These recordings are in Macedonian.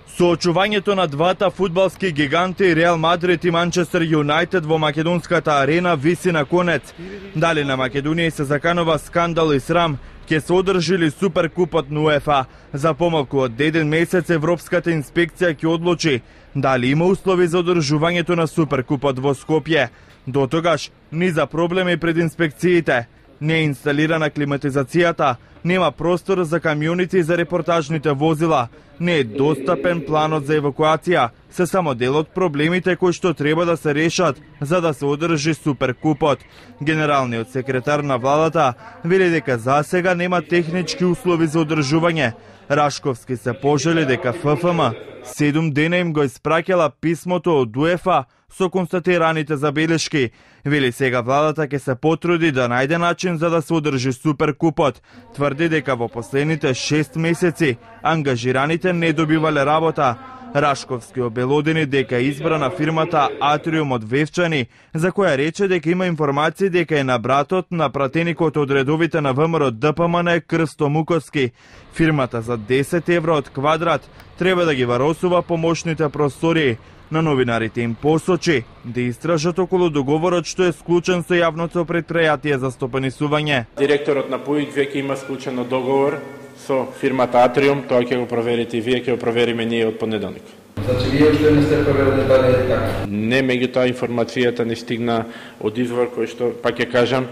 Соочувањето на двата фудбалски гиганти Реал Мадрид и Манчестер Юнајтед во македонската арена виси на конец. Дали на Македонија се заканува скандал и срам, ќе се одржи ли Суперкупот на УЕФА. За помалку од 1 месец Европската инспекција ќе одлучи дали има услови за одржувањето на Суперкупот во Скопје. До тогаш, ни за проблеми пред инспекциите. Не е инсталирана климатизацијата, нема простор за камионите и за репортажните возила, не е достапен планот за евакуација, се само дел од проблемите кои што треба да се решат за да се одржи Суперкупот. Генералниот секретар на владата вели дека засега нема технички услови за одржување. Рашковски се пожали дека ФФМ 7 дена им го испраќала писмото од УЕФА со констатираните забелешки. Вели сега владата ќе се потруди да најде начин за да се одржи Суперкупот. Тврди дека во последните 6 месеци ангажираните не добивале работа. Рашковски обелодени дека е избрана фирмата Атриум од Вевчани, за која рече дека има информации дека е на братот на пратеникот од редовите на ВМРО ДПМН Крсто Муковски. Фирмата за 10 евро од квадрат треба да ги варосува помошните простории. На новинарите им посочи да истражат околу договорот што е склучен со јавното претпријатие за стопанисување. Директорот на ПУИК веќе има склучено договор со фирмата Атриум, тоа ќе го проверите и вие, ќе го провериме ние од понеделник. Значи вие уште не сте проверили дали е така? Не, меѓутоа информацијата не стигна од извор кој што, пак ќе кажам,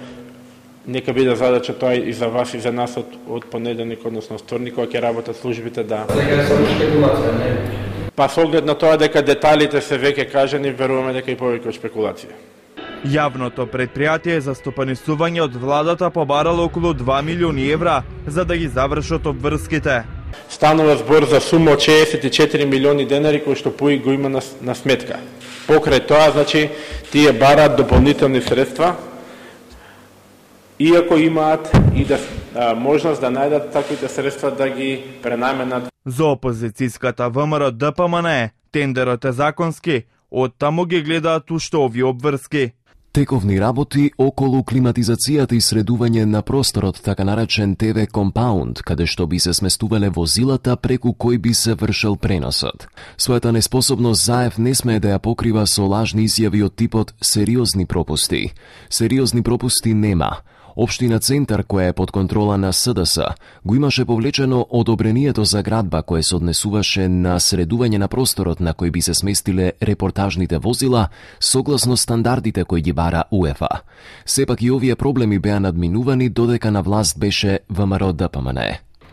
нека биде задача тоа и за вас и за нас од понеделник, односно вторник, кога ќе работат службите да... Сега е само шпекулација, не? Па со оглед на тоа дека деталите се веќе кажани, веруваме дека и повеќе од шпекулација. Јавното претпријатие за стопанисување од владата побарало околу 2 милиони евра за да ги завршат обврските. Станува збор за сума од 64 милиони денари кои што ПУИК го има на сметка. Покрај тоа, значи, тие бараат дополнителни средства, иако имаат и да можност да најдат таквите средства да ги пренаменат. За опозицијската ВМРО ДПМН тендерот е законски, оттаму ги гледаат уште овие обврски. Тековни работи околу климатизацијата и средување на просторот, така наречен ТВ компаунд, каде што би се сместувале возилата преку кој би се вршел преносот. Својата неспособност ЗАЕВ не смее да ја покрива со лажни изјави од типот сериозни пропусти. Сериозни пропусти нема. Општина Центар, која е под контрола на СДС, го имаше повлечено одобрението за градба кое се однесуваше на средување на просторот на кој би се сместиле репортажните возила согласно стандардите кои ги бара УЕФА. Сепак и овие проблеми беа надминувани додека на власт беше ВМРО ДПМН.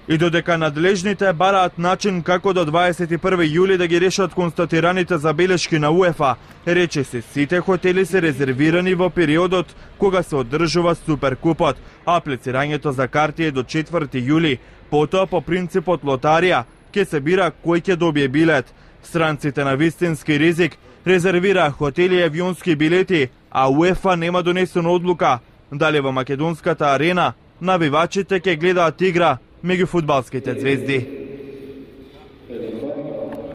И додека надлежните бараат начин како до 21 јули да ги решат констатираните забелешки на УЕФА, рече се сите хотели се резервирани во периодот кога се одржува Суперкупот. Аплицирањето за карти е до 4 јули, потоа по принципот лотарија ќе се бира кој ќе добие билет. Странците на вистински ризик резервираа хотели и авионски билети, а УЕФА нема донесена одлука дали во македонската арена навивачите ќе гледаат игра меѓу фудбалските звезди.